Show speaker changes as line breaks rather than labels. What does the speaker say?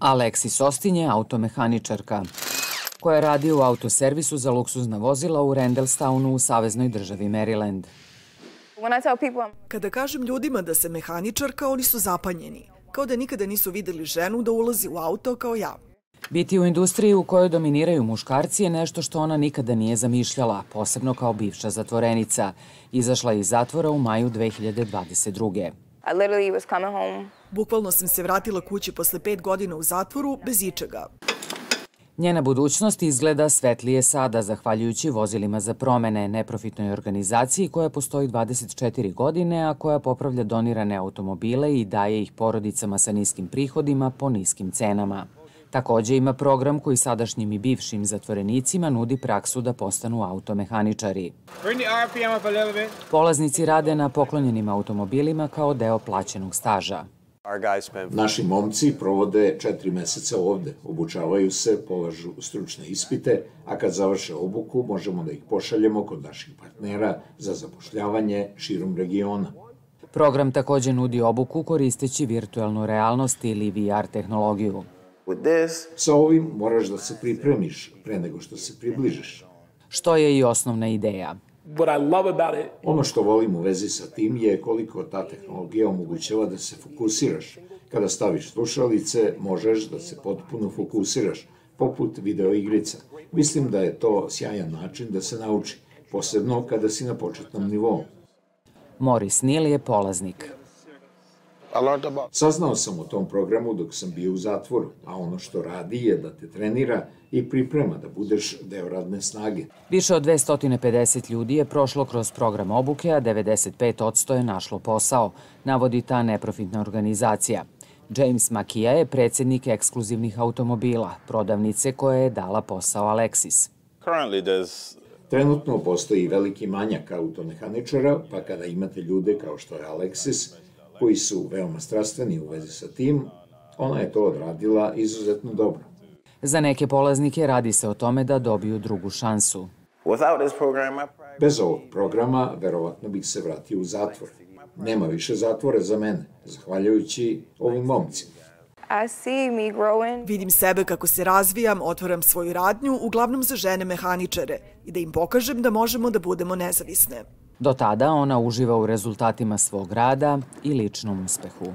Alexis Austin je automehaničarka koja radi u autoservisu za luksuzna vozila u Randallstownu u saveznoj državi Maryland.
Kada kažem ljudima da sam mehaničarka, oni su zapanjeni, kao da nikada nisu videli ženu da ulazi u auto kao ja.
Biti u industriji u kojoj dominiraju muškarci je nešto što ona nikada nije zamišljala, posebno kao bivša zatvorenica. Izašla je iz zatvora u maju 2022.
Bukvalno sam se vratila kući posle 5 godina u zatvoru bez ičega.
Njena budućnost izgleda svetlije sada, zahvaljujući vozilima za promene, neprofitnoj organizaciji koja postoji 24 godine, a koja popravlja donirane automobile i daje ih porodicama sa niskim prihodima po niskim cenama. Također ima program koji sadašnjim i bivšim zatvorenicima nudi praksu da postanu automehaničari. Polaznici rade na poklonjenim automobilima kao deo plaćenog staža.
Naši momci provode 4 meseca ovde, obučavaju se, polažu stručne ispite, a kad završe obuku možemo da ih pošaljemo kod naših partnera za zapošljavanje širom regiona.
Program također nudi obuku koristeći virtualnu realnost ili VR tehnologiju.
Sa ovim moraš da se pripremiš pre nego što se približiš.
Što je i osnovna ideja.
Ono što volim u vezi sa tim je koliko ta tehnologija omogućava da se fokusiraš. Kada staviš slušalice, možeš da se potpuno fokusiraš, poput videoigrica. Mislim da je to sjajan način da se nauči, posebno kada si na početnom nivou.
Morris Neal je polaznik.
Saznao sam o tom programu dok sam bio u zatvoru, a ono što radi je da te trenira i priprema da budeš deo radne snage.
Više od 250 ljudi je prošlo kroz program obuke, a 95% je našlo posao, navodi ta neprofitna organizacija. James Makija je predsjednik ekskluzivnih automobila, prodavnice koja je dala posao Alexis.
Trenutno postoji veliki manjak automehaničara, pa kada imate ljude kao što je Alexis, koji su veoma strastveni u vezi sa tim, ona je to odradila izuzetno dobro.
Za neke polaznike radi se o tome da dobiju drugu šansu.
Bez ovog programa, verovatno bih se vratio u zatvor. Nema više zatvora za mene, zahvaljujući ovim momcima.
Vidim sebe kako se razvijam, otvaram svoju radnju, uglavnom za žene mehaničare, i da im pokažem da možemo da budemo nezavisne.
Do tada ona uživa u rezultatima svog rada i ličnom uspehu.